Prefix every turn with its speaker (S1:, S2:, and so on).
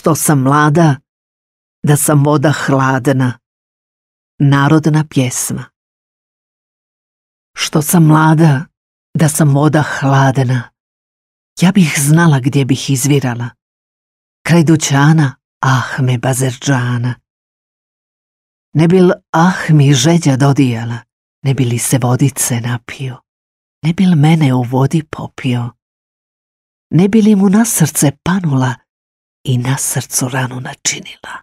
S1: Što sam mlada, da sam voda hladna. Narodna pjesma. Što sam mlada, da sam voda hladna. Ja bih znala gdje bih izvirala. Kraj dućana Ahme Bazerdžana. Ne bil mi žeđa dodijala, ne bi li se vodice napio, ne bil mene u vodi popio, ne bi li mu na srce panula i na srcu ranu načinila.